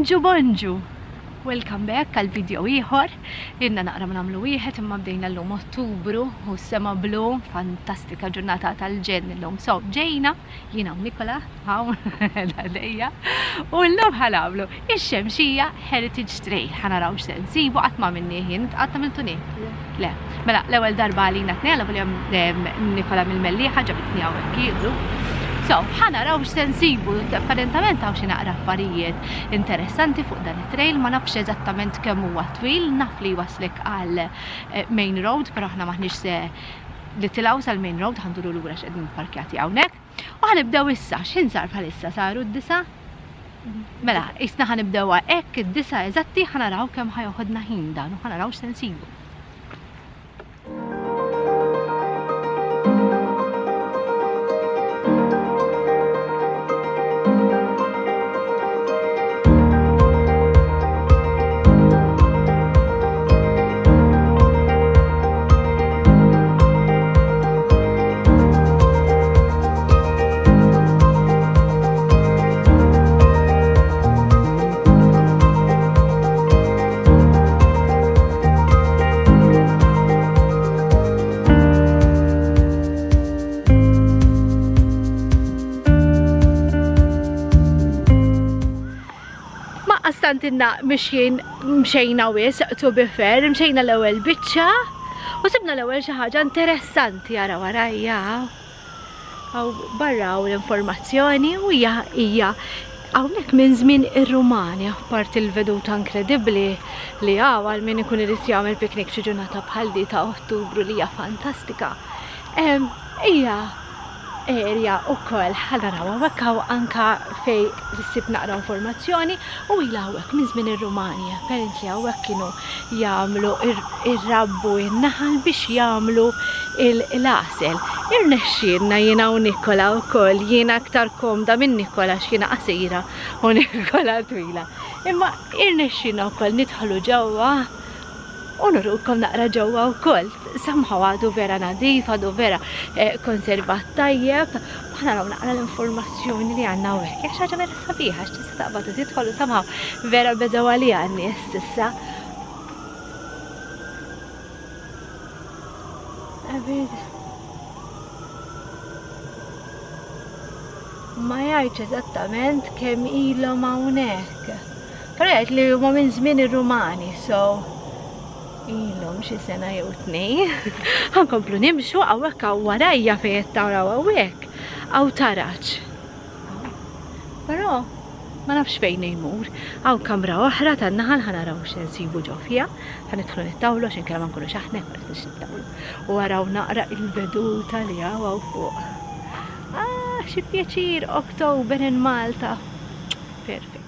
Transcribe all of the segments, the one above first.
Bonġu bonġu! Welcome back għal video ieħor. Ilna naqra ma nagħmlu wieħed imma bdejna llum Ottubru u s-sema blu, fantastika ġurnata tal-ġenn illum. So, ġejna, jiena u Nikola, hawn għalija, u llum ħa nagħmlu ix-Xemxija Heritage Trail. Ħa naraw x'se nsibu qatt ma għamilnieh jien, qatt għamiltu nie? Le. Mela, l-ewwel darba għalina tnejn, għal Nikola mill-Mellieħa ġabitni hawnhekk jieħdu. So, ħa naraw x'se nsibu, apparentament hawn xi naqra affarijiet interessanti fuq dan it-trail, ma nafx eżattament kemm huwa twil, naf li jwaslek għal eh, main road, però aħna maħniex se nitilgħu sal-main road, ħanduru lura x'qegħdin parkjati hawnhekk. U ħanibdew issa, x'ħin sar bħalissa saru d-disa? Mela, isna ħanibdew hekk id-disa eżatti ħanaraw kemm ħajoħodna ħin dan u ħanaraw x'se nsibu. Ma qastantinna mixjin mxejna wis, to be fair, mxejna l-ewwel biċċa u sibna l-ewwel xi ħaġa interessanti ara warajja. Hawn barra hawn l-informazzjoni u hija hija hawnhekk minn żmien ir-Rumani, apparti l-veduta inkredibbli li hawn għal min ikun irid jagħmel picnic xi ġurnata bħal di ta' Ottubru li hija fantastika. Hija area wkoll ħa naraw hawnhekk hawn anka fejn issib naqra informazzjoni u ilha hawnhekk minn żmien ir-Rumani. Apparently hawnhekk kienu jagħmlu irrabbu n-naħal biex jagħmlu l-għasel. Irnexxielna jiena u Nikola wkoll, jiena aktar komda minn Nikola għax jiena qasira u Nikola twila. Imma irnexxielna wkoll nidħlu ġewwa u nurukom naqra ġewwa wkoll. Somehow għadu vera nadif, għadu vera eh, konservat tajjeb. Aħna naraw naqra l-informazzjoni li għandna hawnhekk. Hija xi ħaġa vera sabiħa x'tista' taqbad u tidħol u somehow vera beżgħu għaliha n-nies s'issa. Ma jgħidx eżattament kemm ilhom hawnhekk. Però jgħid li huma minn żmien ir-Rumani, so ilhom xi sena jew tnejn. Ħankomplu nimxu hawnhekk hawn warajja fejn qed taraw hawnhekk hawn taraġ. Però ma nafx fejn jmur. Hawn kamra oħra tan-naħal ħa naraw x'se nsibu ġo fiha. Ħa nidħlu nittawlu għax inkella ma nkunux aħna jekk ma nidħlux nittawlu. U araw naqra il-veduta li hawn hawn fuq. Ah, xi pjaċir October in Malta. Perfect.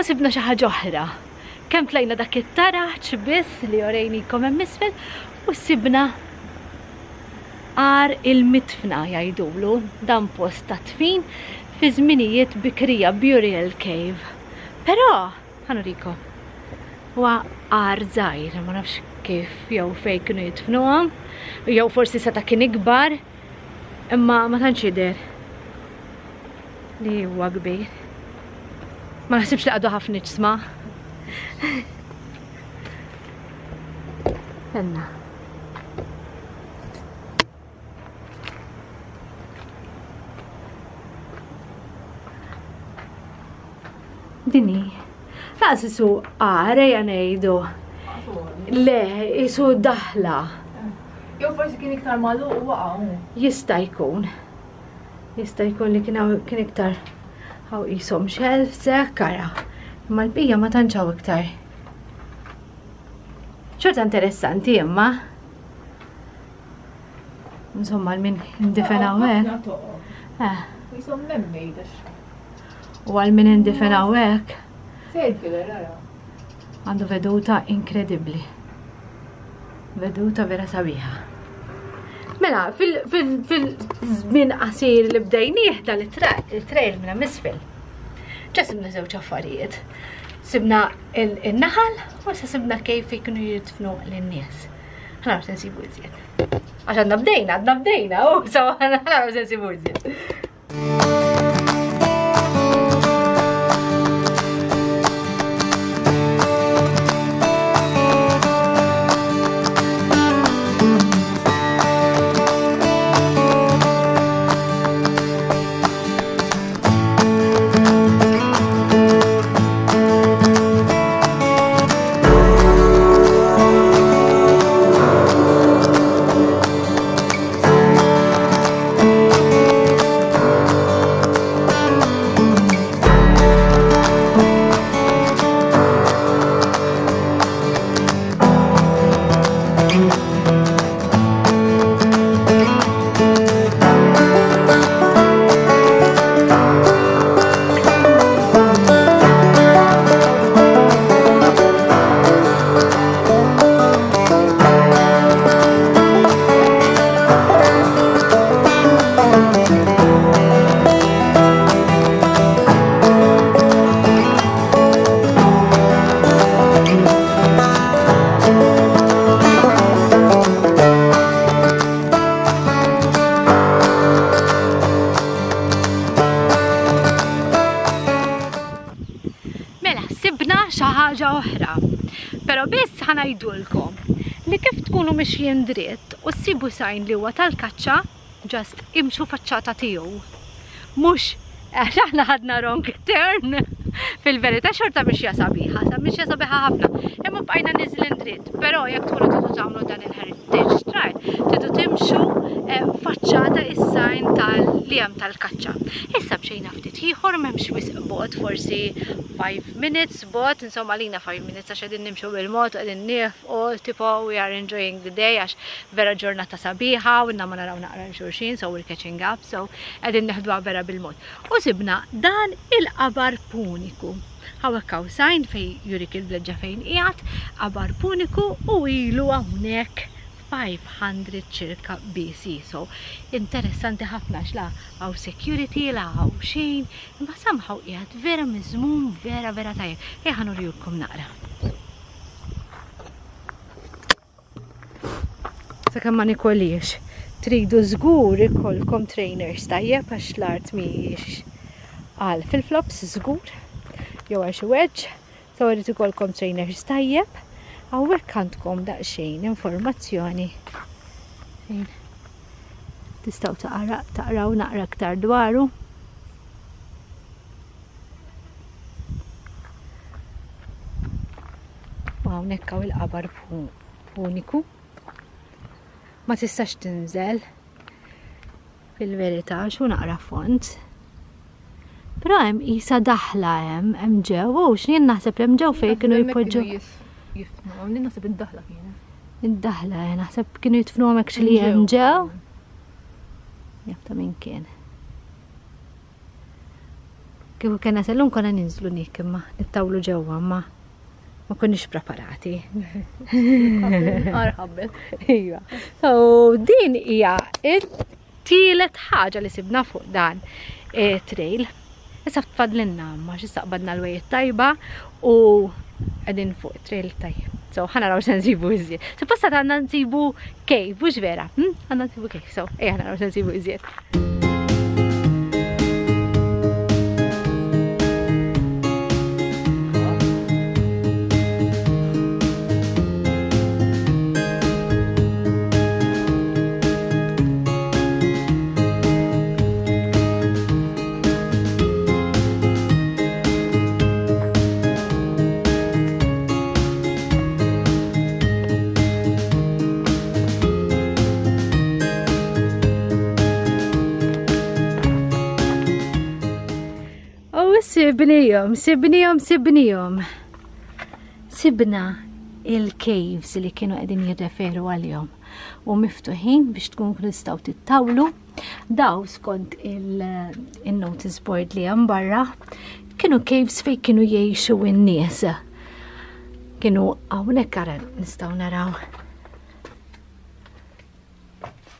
U sibna xi ħaġa oħra. Kemm tlajna dak it-taraġ biss li orejnikom hemm isfel u sibna għar il-mitfna jgħidulu dan post ta' tfin fi żminijiet bikrija burial cave. Però ħa nurikom. Huwa għar żgħir, ma nafx kif jew fejn kienu jidfnuhom, jew forsi seta' kien ikbar, imma ma tantx jidher li huwa kbir. Ma naħsibx li għadu ħafna iġsma. Enna. Dini. Laqas isu għare ngħidu. Le, isu daħla. Jew forsi kien iktar magħluq u waqa'. Jista' jkun. Jista' jkun li kien kien iktar hawn qishom shelves hekk ara. Imma l-bqija ma tantx hawn iktar. Xorta interessanti imma. Insomma, għal min indifen hawnhekk. Eh. Jisom man-made U għal min indifen hawnhekk. Għandu veduta inkredibbli. Veduta vera sabiħa. Mela, fil-żmien qasir li bdejnieh dan it-trail minn hemm isfel. Ġa sibna żewġ affarijiet. Sibna il-naħal u sa sibna kif kienu jidfnu lin-nies. Ħa naraw se nsibu iżjed. Għax għadna bdejna, għadna bdejna, u so ħa naraw se nsibu iżjed. Mela, sibna xi ħaġa oħra. Però biss ħa ngħidulkom li kif tkunu mixjin dritt u ssibu sign li huwa tal-kaċċa, just imxu faċċata tiegħu. Mhux għax aħna ħadna wrong turn. Fil-verità xorta mixja sabiħa, sa mixja sabiħa ħafna. Imma bqajna niżlin dritt, però jekk tkunu tridu tagħmlu dan il-heritage trail, tridu timxu eh, faċċata is-sign tal li hemm tal-kaċċa. Issa mxejna ftit ieħor m'hemmx wisq bogħod, forsi 5 minutes bogħod, insomma lina 5 minutes għax qegħdin nimxu bil-mod, qegħdin niefqu, tipo we are enjoying the day għax vera ġurnata sabiħa u ma naraw naqra xulxin, so we're catching up, so qegħdin neħduha vera bil-mod. U sibna dan il-qabar puniku. Hawnhekk hawn sign fej jurik il-vleġġa fejn qiegħed, qabar puniku u ilu hawnhekk 500 ċirka BC. So, interessanti ħafna għax la hawn security, la hawn xejn, imma somehow qiegħed vera miżmum vera vera tajjeb. Ejja ħa nurjulkom naqra. Sakemm ma nikoliex. Tridu żgur ikollkom trainers tajjeb għax l-art mhijiex għal fil-flops żgur jew għal xi wedge. So irid ikollkom trainers tajjeb. Hawnhekk għandkom daqsxejn informazzjoni fejn tistgħu taqraw naqra aktar dwaru. U hawnhekk hawn il-qabar puniku. Ma tistax tinżel fil-verità xu naqra font. Però hemm qisha daħla hemm, hemm ġew, u x'jien naħseb li hemm ġew fejn kienu jpoġġu. Jifnu, jien naħseb id-daħla kienet. Id-daħla, eh, naħseb kienu jitfnu hemmhekk xi li hemm ġew. Jaf ta' min kien. Kieku kena sellum konna ninżlu nik imma nittawlu ġewwa ma ma konniex preparati. Arħabbet. Iva. So din hija it-tielet ħaġa li sibna fuq dan eh, trail. Issa tfadlinna ma xi saqbadna l-wejt tajba u qegħdin fuq trail tajjeb. So ħa naraw se nsibu iżjed. Supposta għandna nsibu cave, mhux vera? Hm? Għandna nsibu cave, so ejja naraw se nsibu iżjed. U sibnijom, sibnijom, sibnijom. Sibna il-caves li kienu qegħdin jirreferu għalihom u miftuħin biex tkun tistgħu tittawlu Daw skont il-notice board li hemm barra kienu caves fejn kienu jgħixu n-nies. Kienu hawnhekk ara nistgħu naraw.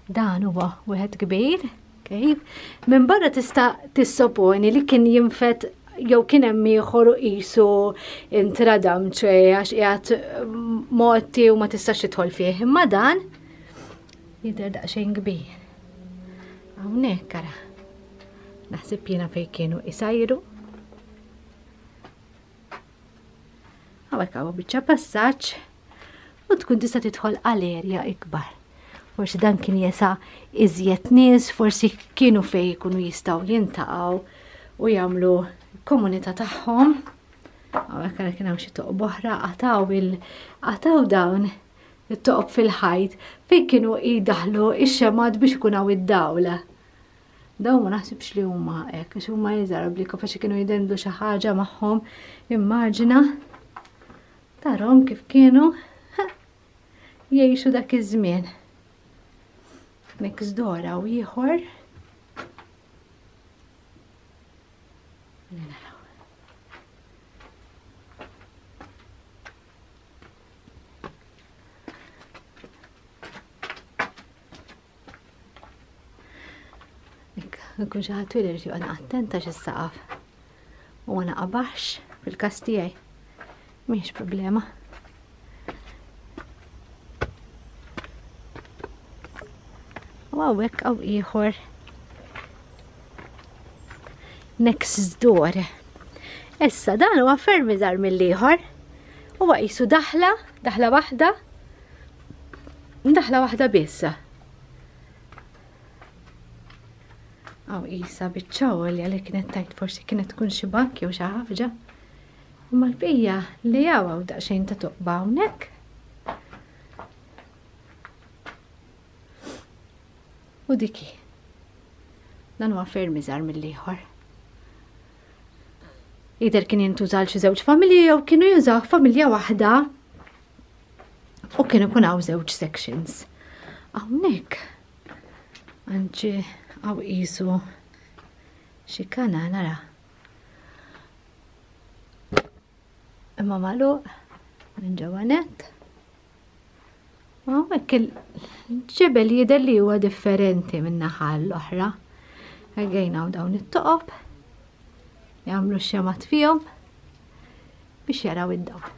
Dan huwa wieħed kbir, cave. Minn barra tista' tissoponi li kien jinfet jew kien hemm ieħor u qisu intradam ċe għax qiegħed motti u ma tistax tidħol fih. Imma dan Jidher daqsxejn kbir. Hawnhekk ara. Naħseb jiena fejn kienu isajru. Hawnhekk hawn biċċa passaġġ u tkun tista' tidħol għal erja ikbar. Forsi dan kien jesa iżjed nies, forsi kienu fej jkunu jistgħu jintaqgħu u jagħmlu komunità tagħhom. Hawnhekk ara kien hawn xi toqba oħra qataw il qataw dawn it-toqob fil-ħajt fejn kienu jdaħlu x-xemgħat biex ikun hawn id-dawl. Dawn ma naħsibx li huma hekk, għax huma iżgħar bli kapaċi kienu jdendu xi ħaġa magħhom. Immaġina tarhom kif kienu jgħixu dak iż-żmien. Next door hawn ieħor. Naraw. Nkun xi ħadd twil irid joqgħod attenta x'is-saqaf. U ma naqabax fil-każ tiegħi. Mhix problema. U hawnhekk hawn ieħor next door. Issa dan huwa ferm iżgħar mill-ieħor. Huwa qisu daħla, daħla waħda, daħla waħda biss. Aw isa biċċa għolja li kienet tajt forsi kienet tkun xi bank jew xi ħaġa. Imma l-bqija li hawn hawn daqsxejn ta' toqba hawnhekk. U diki. Dan huwa ferm iżgħar mill-ieħor. Jidher kien jintuża għal xi żewġ familji jew kienu jużaw familja waħda u kien ikun hawn żewġ sections. Hawnhekk anċi hawn qisu xi kanal ara. Imma magħluq minn ġewwa nett. Hawnhekk il-ġebel jidher li huwa differenti minn naħa l-oħra. Again hawn dawn it-toqob jagħmlu xemat fihom biex jaraw id-dawl.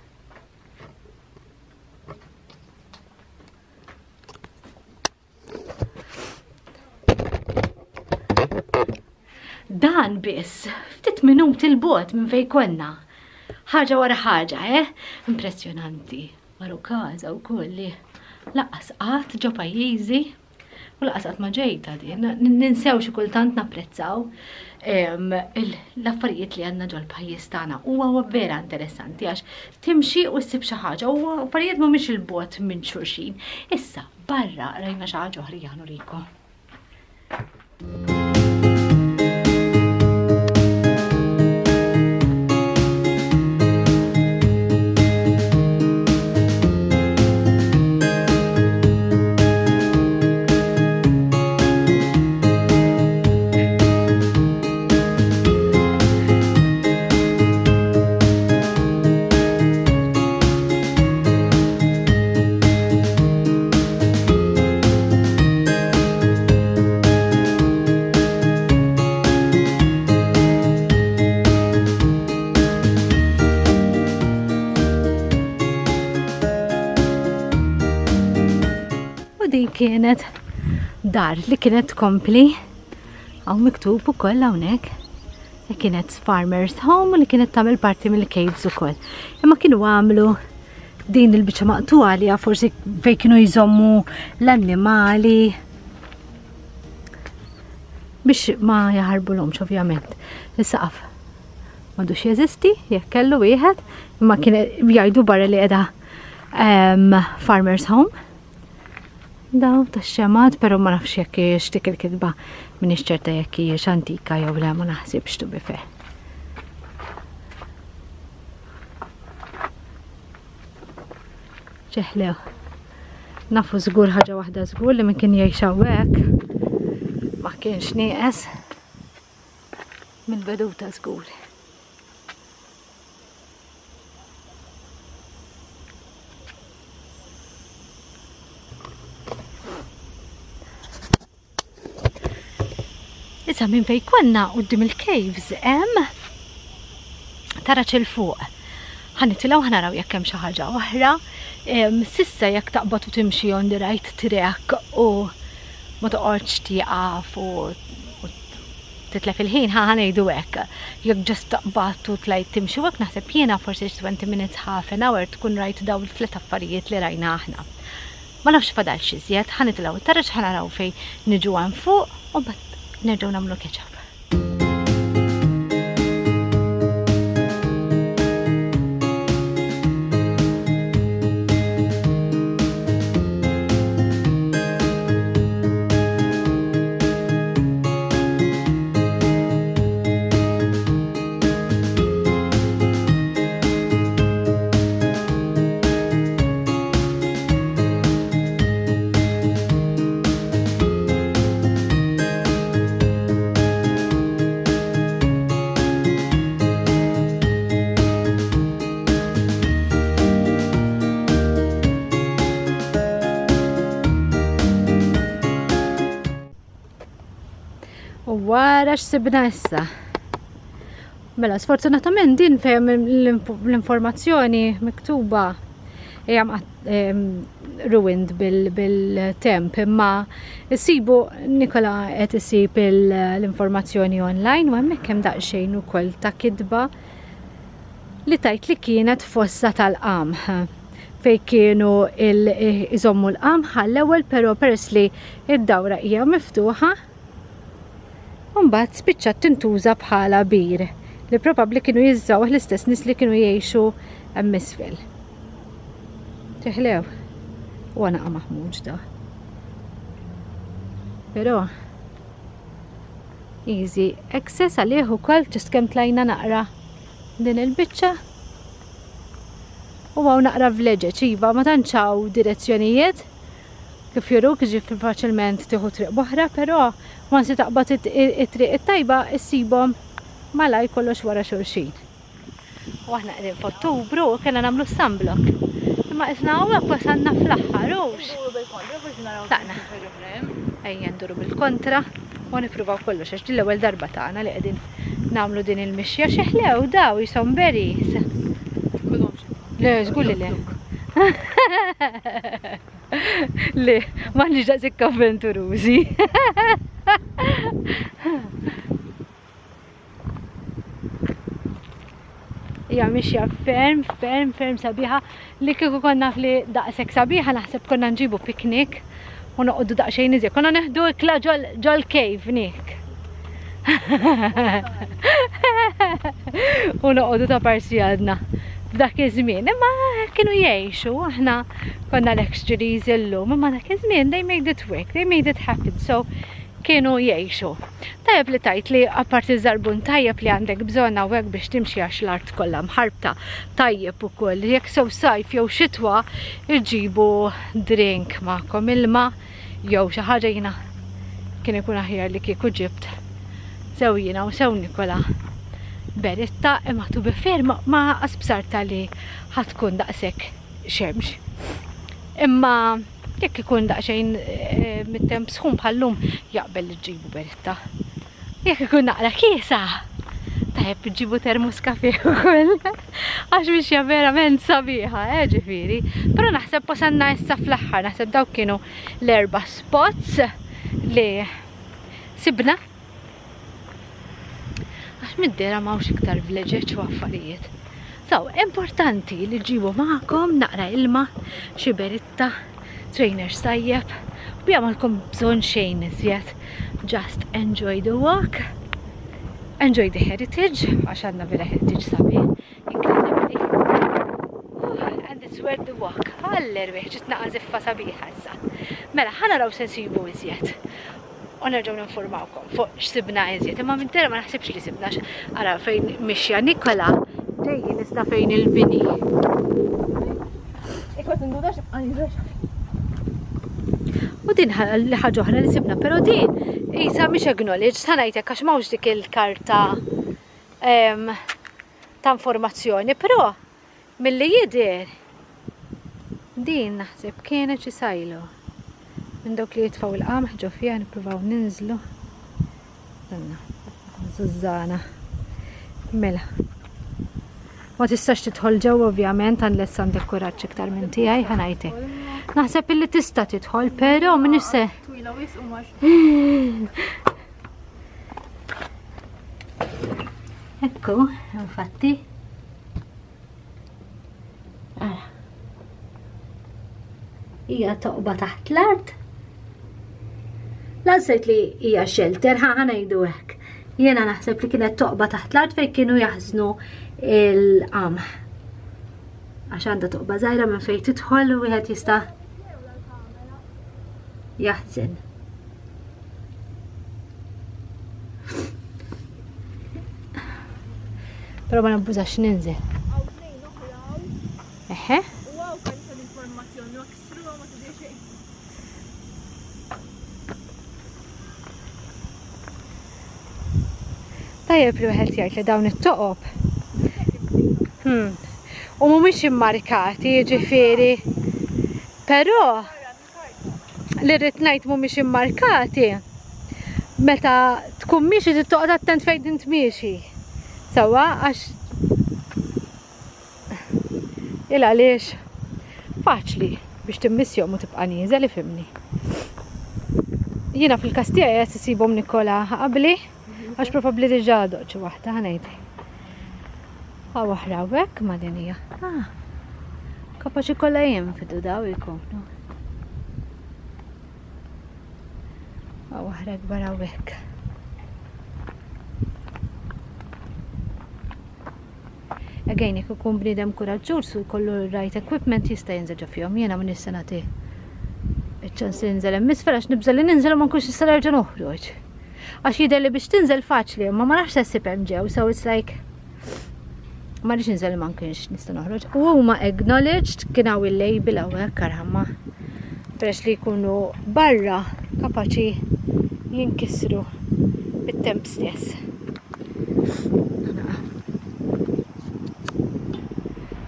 Dan biss, ftit minuti l-bot minn fej konna. Ħaġa wara ħaġa, eh? Impressjonanti. Maru kaza u kolli. Laqqas qatt ġo pajjiżi u laqqas qatt ma ġejta din. Ninsew xi kultant napprezzaw l-affarijiet li għandna ġol pajjiż tagħna. Huwa vera interessanti għax timxi u ssib xi ħaġa u affarijiet mhumiex il-bot minn xulxin. Issa, Barra rajna xi ħaġa oħra ejja nurikom. kienet dar li kienet tkompli hawn miktub ukoll hawnhekk li kienet farmer's home u li kienet tagħmel parti mill-caves ukoll. Imma kienu għamlu din il-biċċa maqtuha li forsi fejn kienu jżommu l-annimali biex ma jaħarbulhomx ovvjament. Is-saqaf m'għadux jeżisti jekk kellu wieħed, imma kien jgħidu barra li qiegħda farmer's home. Daw tax-xemat, però ma nafx jekk hijiex dik il-kitba m'iniex ċerta jekk hijiex antika jew le ma naħsibx to be fair. Ċeħlew. Nafu żgur ħaġa waħda żgur li min kien jgħix hawnhekk ma kienx nieqes mill-veduta żgur. Issa minn fej konna quddiem il-caves hemm taraġ 'il fuq. Ħa nitilgħu ħa naraw jekk hemm xi ħaġa oħra. Sissa jekk taqbad u timxi on the right track u ma toqgħodx tieqaf u titlef il-ħin, ħa ngħidu hekk. Jekk just taqbad u tlajt timxi u hekk naħseb jiena forsi 20 minutes half an hour tkun rajt dawn it-tliet affarijiet li rajna aħna. Ma nafx fadalx iżjed, ħa nitilgħu it-taraġ ħa naraw fejn niġu hemm fuq u mbagħad nerġgħu nagħmlu catch up. U wara x'sibna issa. Mela, sfortunatament din fejn l-informazzjoni miktuba hija ruined bil-temp imma issibu Nikola qed isib l-informazzjoni online u hemmhekk hemm daqsxejn ukoll ta' kitba li tajt li kienet fossa tal-qamħ fej kienu iżommu l-qamħ għall-ewwel però peress li id-dawra hija miftuħa U mbagħad spiċċat tintuża bħala bir li probabbli kienu jiżżawh l-istess nies li kienu jgħixu hemm isfel. Teħlew. U għana maħmuġ da. Però easy access għalih ukoll ġust kemm tlajna naqra din il-biċċa. U hawn naqra vleġeġ, iva, ma tantx hawn direzzjonijiet. Kif juruk, jiġifieri faċilment tieħu triq b'oħra, però once li taqbad it-triq it-tajba issibhom malajr kollox wara xulxin. U aħna qegħdin f'Ottubru u kellna nagħmlu sunblock. Imma qisna hawnhekk wasalna fl-aħħar, hux? Tlaqna. Ejja nduru bil-kontra u nippruvaw kollox għax din l-ewwel darba tagħna li qegħdin nagħmlu din il-mixja. Xi ħlew daw jisom berries. Le, żgur li le. Le, m'aħniex daqshekk avventurużi. Hija mixja ferm, ferm, ferm sabiħa li kieku konna naf li daqshekk sabiħa naħseb konna nġibu piknik u noqogħdu daqsxejn iżjed. Konna neħdu ikla ġol cave nik. U noqogħdu ta' parsi għadna f'dak iż-żmien. Imma kienu jgħixu, aħna konna l-luxuries illum, imma dak iż-żmien they made it work, they made it happen. So kienu jgħixu. Tajjeb li tajt li apparti żarbun tajjeb li għandek bżonn hawnhekk biex timxi għax l-art kollha mħarbta tajjeb ukoll. Jekk sew sajf jew xitwa iġibu drink magħkom ilma jew xi ħaġa jiena kien ikun aħjar li kieku ġibt sew jiena u sew Nikola beritta imma to be fair ma qas bsarta li ħatkun daqshekk xemx. Imma jekk ikun daqsxejn eh, mit-temp sħun bħallum jaqbel li ġġibu beritta. Jekk ikun naqra kiesa. Tajjeb ġibu termos kafe ukoll. Għax mixja verament sabiħa, eh, ġifieri. Però naħseb wasalna issa fl-aħħar, naħseb dawk kienu l-erba' spots li sibna. Għax mid-dera m'hawnx iktar vleġeġ u affarijiet. So, importanti li ġibu magħkom naqra ilma, xi beritta, trainers tajjeb, u bija malkom bżonn xejn iżjed. Just enjoy the walk, enjoy the heritage, għax għandna vera heritage sabiħ, incredibly. And it's worth the walk. Għall-erwieħ, ġiet naqa' ziffa sabiħa issa. Mela, ħa naraw se nsibu iżjed. U nerġgħu ninformawkom fuq x'sibna iżjed. Imma minn tera ma naħsibx li sibna ara fejn mixja Nikola ġejjin issa fejn il-bini. U din li ħaġa oħra li sibna, però din isa mhix acknowledged, sa ngħidlek għax m'hawnx dik il-karta ta' informazzjoni, però Milli jidher, din naħseb kienet xi sajlo. Minn dawk li jitfgħu il-qamħ ġo fiha nippruvaw ninżlu. Danna, żużżana. Mela. Ma tistax tidħol ġewwa ovvjament unless għandek kuraġġ iktar minn tiegħi ħa ngħidlek. Naħseb illi tista' tidħol, però m'iniex se. Twila wisq u mhux. Ekku, infatti. Ara. Hija toqba taħt l-art. Lansejt li hija shelter, ħa ngħidu hekk. Jiena naħseb li kienet toqba taħt l-art fejn kienu jaħżnu il-qamħ. Għax għandha toqba żgħira minn fejn tidħol u wieħed jista' jaħżen. Però ma nabbużax ninżel. Eħe. Tajjeb li wieħed jgħid li dawn it-toqob. Hmm. U mhumiex immarkati, jiġifieri. Però li rrid ngħid mhumiex immarkati, meta tkun miexi trid toqgħod attent fejn int miexi. Sewwa għax il għaliex faċli biex timmissjhom u tibqa' nieżel ifhimni. Jiena fil-każ tiegħi qed isibhom Nikola qabli għax probabbli diġà doq xi waħda ħa ngħidlek. Hawn oħra hawnhekk ma din hija. Ah, kapaċi kollha jinfidu daw ikunu. Hawn oħra kbar hawnhekk. Again, jekk ikun bniedem kuraġġuż u jkollu right equipment jista' jinżel ġo fihom. Jiena m'iniex se nagħti iċ-ċans li ninżel hemm isfel għax nibża' li ninżel u ma nkunx nista' nerġa' noħroġ. Għax jidher li biex tinżel faċli, imma ma nafx se ssib hemm ġew, so it's like ma rridx ninżel ma nkunx nista' noħroġ. U huma acknowledged kien hawn il-label hawnhekk arħamma peress li jkunu barra kapaċi jinkisru bit-temp stess.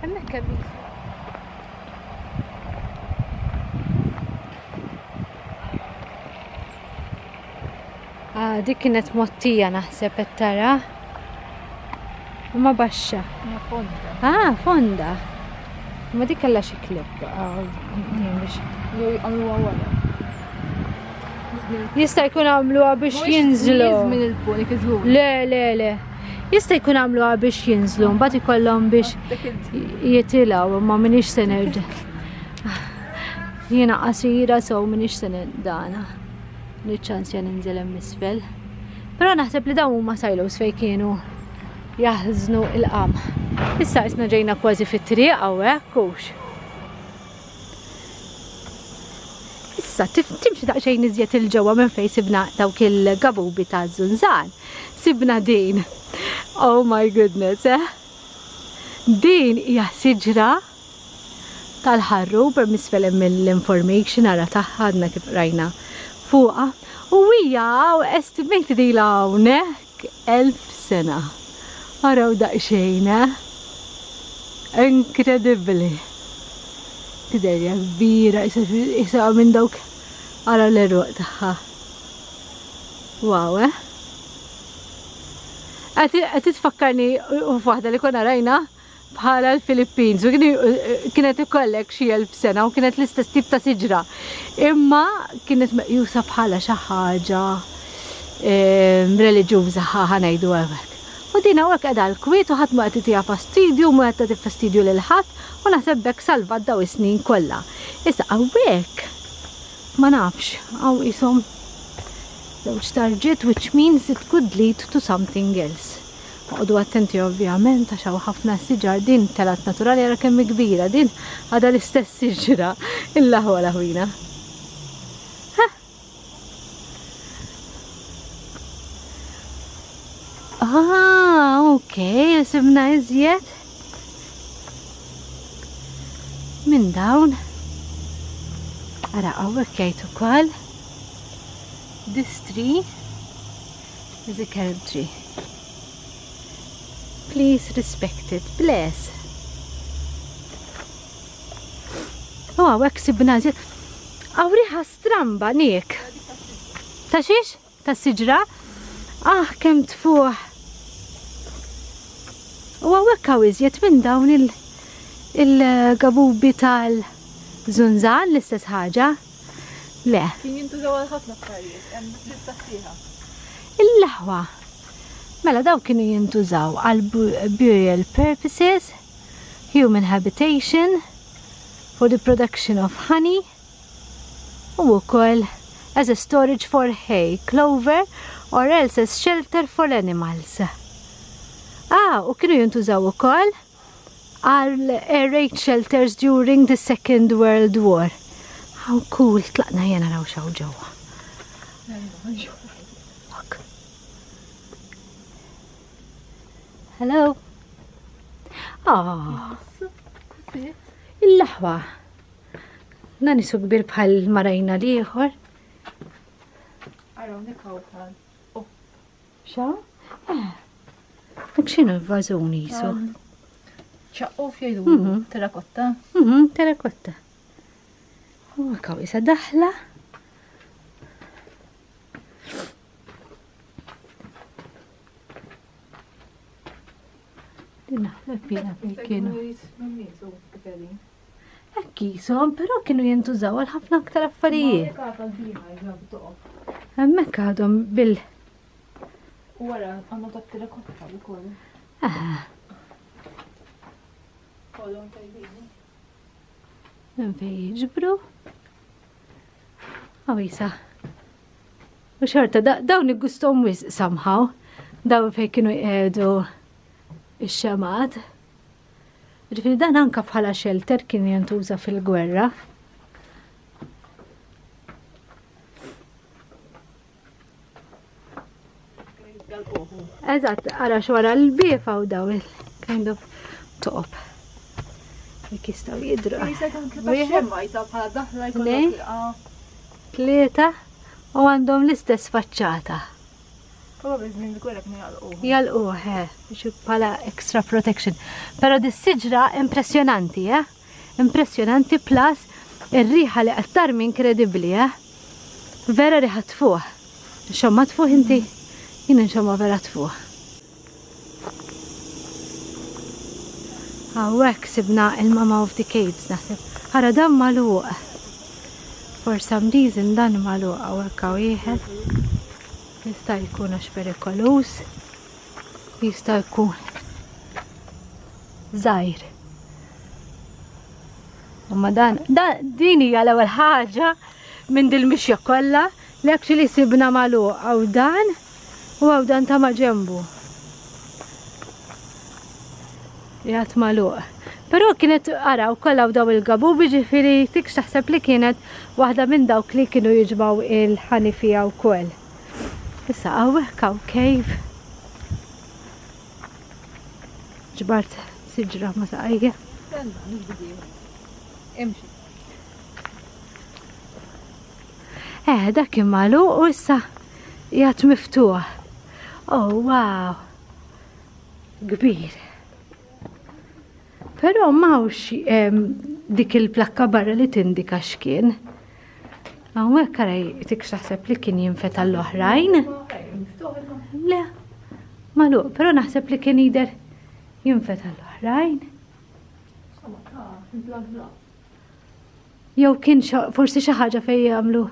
Hemmhekk hemm Ah, dik kienet mottija naħseb qed tara. Ma baxxa. Fonda. Ah, fonda. Ma dik kellha xi klib. Ah, biex. Jew għamluha wara. Jista' jkun għamluha biex jinżlu. Minn il-punik iżgur. Le, le, le. Jista' jkun għamluha biex jinżlu, mbagħad ikollhom biex jitilgħu, imma m'iniex se nerġa'. Jiena qasira so m'iniex se dana. Niċċansja ninżel hemm isfel. Però naħseb li dawn huma silos fejn kienu jaħżnu il-qamħ. Issa isna ġejna kważi fit-triq hawnhekk hux. Issa timxi daqsxejn iżjed il-ġewwa minn fejn sibna dawk il-gabubi ta' żunżan. Sibna din. Oh my goodness, eh? Din hija siġra tal-ħarrub hemm isfel hemm l-information ara tagħha għadna kif qrajna fuqha. U hija hawn estimated ilha hawnhekk 1000 sena. Araw daqsxejn, eh? Inkredibbli. Tidher hija kbira, isa minn dawk ara l-għeruq tagħha. Wow, eh? Qed tfakkarni f'waħda li konna rajna bħala l-Philippines u kienet ikollek xi 1000 sena u kienet l-istess tip ta' siġra. Imma kienet meqjusa bħala xi ħaġa reliġjuża ħa ngħidu hekk. U din hawnhekk qiegħda l-kwiet u ħadd ma qed itiha fastidju, ma qed tagħti fastidju lil ħadd u naħseb b'hekk salvat daw is-snin kollha. Issa hawnhekk ma nafx, hawn qishom żewġ tarġiet which means it could lead to something else. Oqogħdu attenti ovvjament għax hawn ħafna siġar din telgħet naturali ara kemm hi kbira din għadha l-istess siġra il-laħwa laħwina. Ah, ok, sibna iżjed. Minn dawn. Ara, hawnhekk jgħid ukoll. This tree is a carob tree. Please respect it. Bless. U hawnhekk sibna iżjed. Hawn riħa stramba nik. Ta' xiex? Ta' siġra? Ah, kemm tfuħ. U hawnhekk hawn iżjed minn dawn il-gabubi tal-żunżan l-istess ħaġa. Le. Kien jintużaw għal ħafna affarijiet, hemm lista sħiħa. Il-laħwa. Mela daw kienu jintużaw għal burial purposes, human habitation, for the production of honey, u wkoll as a storage for hay, clover, or else as shelter for animals. Ah, u kienu jintużaw ukoll għal air raid shelters during the Second World War. How cool, tlaqna jena naraw xaw ġewwa. Fuck. Hello. Ah. Il-laħwa. Dan isu kbir bħal marajna l-ieħor. Araw nikaw bħal. Oh. Xa? Eh. Dak x'inhu l-vażun jisu? ċaqquf jgħidu mhm. terrakotta. Mhm, terrakotta. U għakaw isa daħla. Din naħseb jiena fejn kienu. Hekk qishom, però kienu jintużaw għal ħafna aktar affarijiet. Hemmhekk għadhom bil. U wara għandhom ta' terrakotta wkoll. Ah. Kollhom tajbin. Minn fejn jiġbru. Għawisa. U xorta, dawn iggustom wisq somehow. Dawn fejn kienu jqiegħdu ix-xemat. Ġifieri dan anka bħala shelter kien jintuża fil-gwerra. Eżatt, ara xwara l-bifa u daw il-kind of top. Jek jistaw jidru. Tlieta u għandhom l-istess faċċata. Probably żmien il-gwerra kienu jalquh. Jalquh, eh, biex bħala extra protection. Però dis-siġra impressjonanti, eh? Impressjonanti plus ir-riħa li qed tarmi inkredibbli, eh? Vera riħa tfuħ. Xomma tfuħ inti? Jien nxomma vera tfuħ. Hawnhekk sibna il-Mama of the Caves naħseb. Ara dan magħluq. For some reason dan magħluq hawnhekk hawn wieħed. Jista' jkun għax perikoluż. Jista' jkun żgħir. Imma dan, dan din hija l-ewwel ħaġa minn dil-mixja kollha li actually sibna magħluq hawn dan U hawn dan ta' maġenbu. Jgħat magħluq. Però kienet ara wkoll hawn daw il-gabubi ġifieri tikx taħseb li kienet waħda minn dawk li kienu jiġmaw il-ħanifija wkoll. Issa hawnhekk hawn cave. Ġbart siġra ma saqajja. Imxi. Eh, dak kien magħluq u issa qiegħed miftuħ. Oh, wow. Kbir. Però m'hawnx dik il-plakka barra li tindika x'kien. Hawnhekk ara tik taħseb li kien jinfeta l-oħrajn. Le, Magħluq, però naħseb li kien jidher jinfetaħ l-oħrajn. Jew kien forsi xi ħaġa fejn jagħmlu.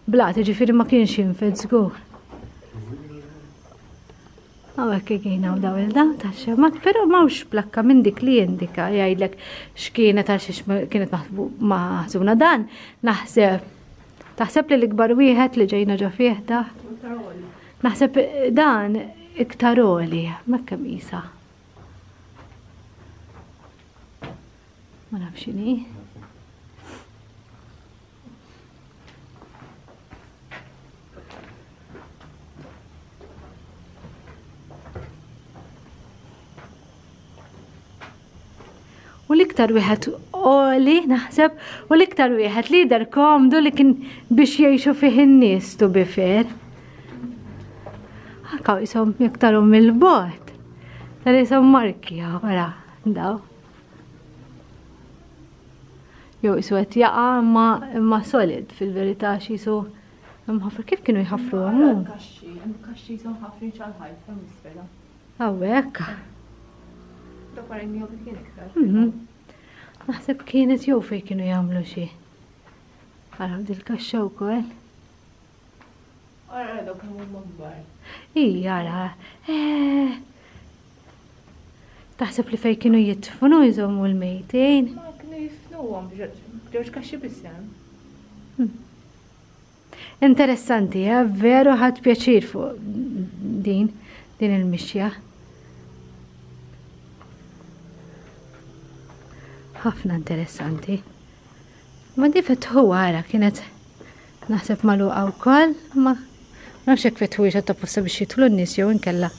Blat, ġifieri ma kienx jinfed żgur. Hawnhekk kien hawn daw il-daw ta' xemat, però m'hawnx plakka minn dik li jindika jgħidlek x'kienet għal xiex kienet maħżuna dan. Naħseb taħseb li l-ikbar wieħed li ġejna ġo fih da. Naħseb dan iktar għoli, ma kemm isa. Ma nafx x'inhi. U l-iktar wieħed għoli naħseb u l-iktar wieħed li jidher komdu li kien biex jgħixu fih in-nies to be fair. Anka jisom iktarhom mill-bogħod. Tal jisom marki wara daw. Jew isu qed jaqa' imma imma solid fil-verità xi jisu mħaffar kif kienu jħaffru għamu? Kaxxi, hemm kaxxi jisom ħafrin xal-ħajt hemm isfel. Hawnhekk. Dak wara jew kien iktar. Mhm. Naħseb kienet jew fejn kienu jagħmlu xi. Araw dil-kaxxa wkoll. Ara dawk kemm huma kbar. Ija, ara. Eh. Taħseb li fejn kienu jidfnu jżommu l-mejtin? Ma kienu jidfnuhom ġewġ kaxxi biss hemm. Hmm. Interessanti, eh? veru ħadd pjaċir fuq din din il-mixja. Ħafna interessanti. Ma di fetħu għara kienet naħseb magħluqa wkoll, ma nafx hekk fetħu ta' posta biex jidħlu n-nies jew inkella.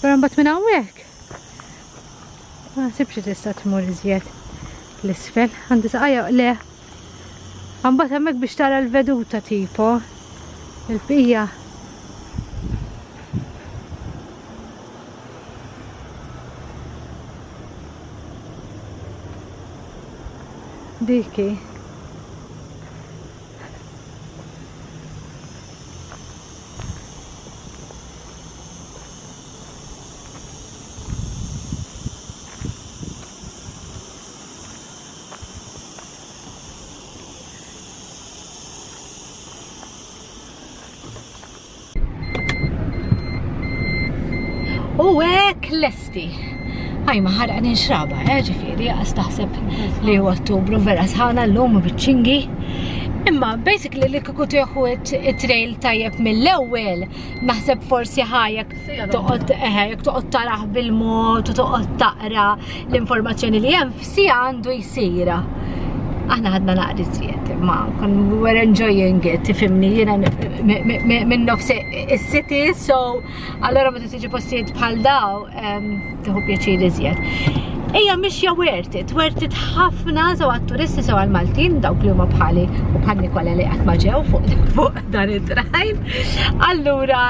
Però mbagħad minn hawnhekk ma naħsibx li tista' tmur iżjed l-isfel. Għandi saqajja le. Mbagħad hemmhekk biex tara l-veduta tipo il-bqija Diki. U hekk lesti. Għaj ma ħaraq ninxraba, eh, ġifieri, għas taħseb li huwa Ottubru vera sħana llum u biċ-ċingi. Imma basically li kieku tieħu it-trail tajjeb mill-ewwel, naħseb forsi ħajek toqgħod eh, jekk toqgħod taraħ bil-mod u toqgħod taqra l-informazzjoni li hemm f'sija għandu jsir. Aħna ħadna naqri żjed, imma kon we were enjoying it, tifhimni jiena minn nofs is-city, so allora meta tiġi postijiet bħal daw tieħu pjaċir iżjed. Ejja mixja worth it, worth it ħafna sew għat-turisti sew għall-Maltin, dawk li huma bħali u bħal Nikola li qatt ma ġew fuq dan it-trajn. Allura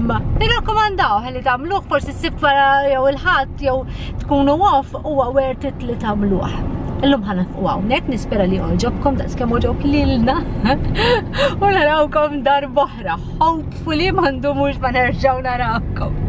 nirrakkomandaw li tagħmluh forsi s-sibt wara jew il-ħadd jew tkunu off huwa worth it li tagħmluh. Illum ħa nafqu hawnhekk, nispera li għoġobkom daqs kemm għoġob lilna. U narawkom darb'oħra. Hopefully ma ndumux ma nerġgħu narawkom.